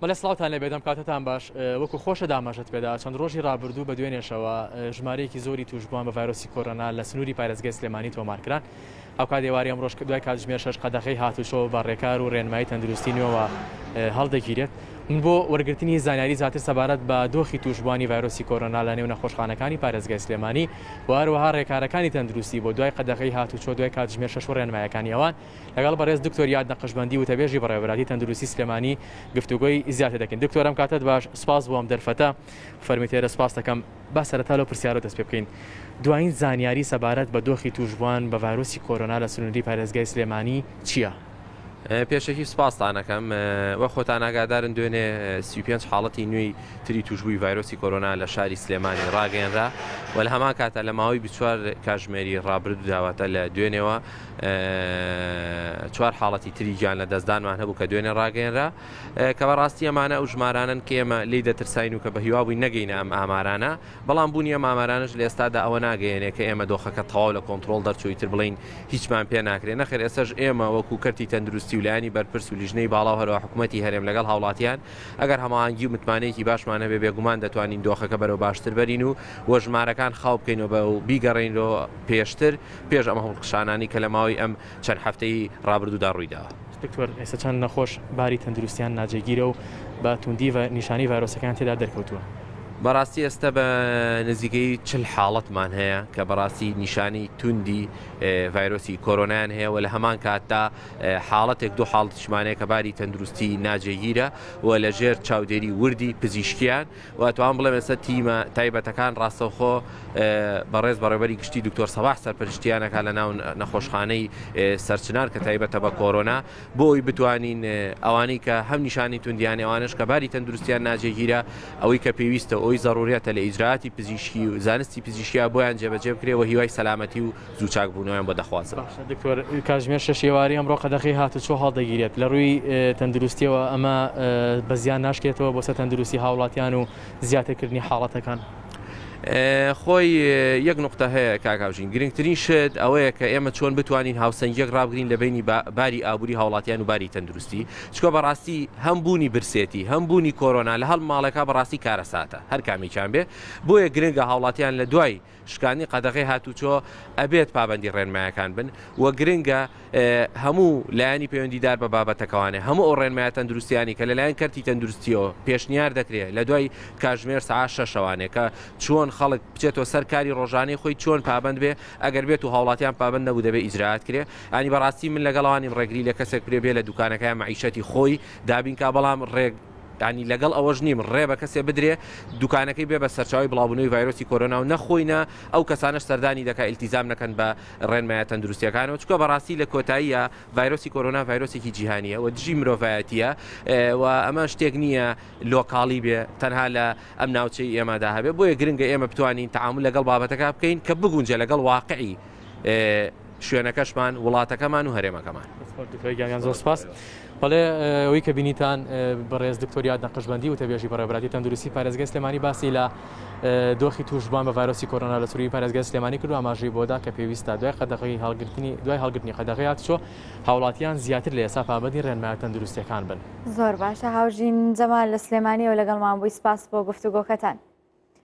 بەڵێ سڵاوتان لێبێت ئەم کاتەتان باش وەکو خۆشە داماژەت پێدا چەند ڕۆژی ڕابردوو بە دوێنێشەوە ژمارەیەکی زۆری توشبووان بە ڤایرۆسی کۆرۆنا لە سنووری پارێزگای سلێمانی تۆمارکران هاوکات ئێوارەی ئەمڕۆش دوای کاتژمێر شەش قەدەغەی هاتوچۆ بە ڕێکار و ڕێنمایی تەندروستی نوێوە هەڵدەگیرێت من بۆ وەرگرتنی زانیاری زیاتر سەبارەت بە دۆخی توشبووانی ڤایرۆسی کۆرۆنا لە نێو نەخۆشخانەکانی پارێزگای سلێمانی و هەروەها ڕێکارەکانی تەندروستی بۆ دوای قەدەغەی هاتوچۆ دوای کاتژمێر شەش و ڕێنمایەکانی ئەوان لەگەڵ بەڕێز دکتۆر یاد نەقشبەندی وتەبێژی بەڕێوەبەرایەتی تەندروستی سلێمانی گفتوگۆی زیاتر دەکەین. دکتۆر ئەم کاتەت باش، سوپاس بۆ ئەم دەرفەتە. فەرمووی تێرە سوپاست دەکەم. با سەرەتا لەو پرسیارەوە دەست پێ بکەین. دوایین زانیاری سەبارەت بە دۆخی تووشبووان بە ڤایرۆسی کۆرۆنا لە سنووری پارێزگای سلێمانی چییە؟ پێشەکی سوپاستان ئەکەم. وەک خۆتان ئاگادارن دوێنێ 35 حاڵەتی نوێی تری تووشبووی ڤایرۆسی کۆرۆنا لە شاری سلێمانی ڕاگەیەنرا و لە هەمان کاتا لە ماوەی 24 کاژمێری ڕابردوودا واتە لە دوێنێوە چوار حاڵەتی تری گیان لە دەستدانمان هەبوو کە دوێنێ ڕاگەیەنرا کە بەڕاستی ئەمانە ئەو ژمارانەن کە ئێمە لێی دەترساین و کە بە هیوا بووین نەگەینە ئەم ئامارانە بەڵام بوونی ئەم ئامارانەش لە ئێستادا ئەوە ناگەیەنێ کە ئێمە دۆخەکە تەواو لە کۆنترۆڵ دەرچوو ئیتر بڵێین هیچمان پێ ناکرێ نەخێر ئێستاش ئێمە وەکو کەرتی تەندروستی و لایەنی بەرپرس و لیژنەی باڵا و هەروەها حکوومەتی هەرێم لەگەڵ هاوڵاتیان ئەگەر هەماهەنگی و متمانەیەکی باشمان هەبێ بێگومان دەتوانین دۆخەکە بەرەو باشتر بەرین و و ژمارەکان خاو بکەینەوە بە و بیگەڕێینەوە پێشتر پێش ئەم هەڵکشانانەی کە لە ماوەی ئەم چەند هەفتەی ڕابردوودا ڕوویداوە. دکتۆر ئێستا چەند نەخۆش باری تەندروستیان ناجێگیرە و بە توندی نیشانەی ڤایرۆسەکەیان تێدا دەرکەوتووە؟ بەڕاستی ئێستا بە نزیکەی چل حاڵەتمان هەیە کە بەڕاستی نیشانەی توندی ڤایرۆسی کۆرۆنایان هەیە و لە هەمان کاتدا حاڵەتێک دوو حاڵەتیشمان هەیە کە باری تەندروستی ناجێگیرە و لەژێر چاودێری وردی پزیشکیان و ئەتوانم بڵێم ئێستا تیمە تایبەتەکان ڕاستەوخۆ بەڕێز بەڕێوەبەری گشتی دکتۆر سەباح سەرپەرشتیان ئەکات لە ناو نەخۆشخانەی سەرچنار کە تایبەتە بە کۆرۆنا بۆ ئەوی بتوانین ئەوانەی کە هەم نیشانی توندیان ئەوانش کە باری تەندروستیان ناجێگیرە ئەوەی کە پێویستە ئەوی زەڕوریەتە لە ئیجراتی پزیشکی و زانستی پزیشکیا بۆیان جێبەجێ بکرێ و هیوای سەلامەتی و زوو چاکبوونەوەیان بۆ دەخوازم. باشە دکتۆر کاتژمێر شەش ئێوارەی ئەمڕۆ قەدەغەی هاتوچۆ هەڵدەگیرێت لە ڕووی تەندروستیەوە ئەمە بە زیان ناشکێتەوە بۆ سەر تەندروستی هاوڵاتیان و زیاترکردنی حاڵەتەکان؟ خۆی یەک نقطە هەیە کاک هاوژین گرنگترین شت ئەوەیە کە ئێمە چۆن بتوانین هاوسەنگیەک ڕابگرین لە بینی باری ئابووری هاوڵاتیان و باری تەندروستی چکە بەڕاستی هەم بوونی برسێتی هەم بوونی کۆرۆنا لە هەڵ ماڵێکا بەڕاستی کارەساتە هەر کامێکیان بێ بۆیە گرنگە هاوڵاتیان لە دوای شکاندنی قەدەغەی هاتوچۆ ئەبێت پابەندی ڕێنمایەکان بن و گرنگە هەموو لایەنی پەیوەندیدار بە بابەتەکەوانێ هەموو ئەو ڕێنمایە تەندروستیانی کە لەلایەن کەرتی تەندروستیەوە پێشنیار دەکرێت لە دوای کاژمێر سەعات شەشەوانێ کە چۆن خەڵک بچێتەوە سەر کاری ڕۆژانەی خۆی چۆن پابەند بێ ئەگەر بێت و هاوڵاتیان پابەند نەبوو دەبێ ئیجرائات کرێ ئەنی بەڕاستی من لەگەڵ ئەوانیم ڕێگری لە کەسێک بکرێ بێ لە دوکانەکەیا مەعیشەتی خۆی دابین کا بەڵام ڕێگ یانی لەگەڵ ئەوەش نیم ڕێ بە کەسێ بدرێ دوکانەکەی بێ بە سەرچاوەی بڵاوبوونەوەی ڤایرۆسی کۆرۆنا و نە خۆی نە ئەو کەسانەش سەردانی دەکا ئیلتیزام نەکەن بە ڕێنمایە تەندروستیەکانەوە چونکە بەڕاستی لە کۆتاییە ڤایرۆسی کۆرۆنا ڤایرۆسێکی جیهانیە و دژی مرۆڤایەتیە و ئەمە شتێک نییە لۆکاڵی بێ تەنها لە ئەم ناوچەی ئێمەدا هەبێ بۆیە گرنگە ئێمە بتوانین تەعامول لەگەڵ بابەتەکە بکەین کە بگونجێ لەگەڵ واقعی شوێنەکەشمان، وڵاتەکەمان و هەرێمەکەمان. دکتۆر گیان زۆر سپاس. بەڵێ ئەوەی کە بینیتان بەڕێز دکتۆر یاد نەقشبەندی وتەبێژی بەڕێوەبەرایەتی تەندروستی پارێزگای سلێمانی باسی لە دۆخی تووشبووان بە ڤایرۆسی کۆرۆنا لە سنووری پارێزگای سلێمانی کرد و ئاماژەی بۆدا کە پێویستە دوای قەدەغەی هەڵگرتنی دوای هەڵگرتنی قەدەغەی هاتوچۆ هاوڵاتیان زیاتر لە ئێستا پابەندی ڕێنمایە تەندروستیەکان بن. زۆر باشە هاوژین جەمال لە سلێمانیەوە لەگەڵمان بووی سپاس بۆ گفتوگۆکەتان.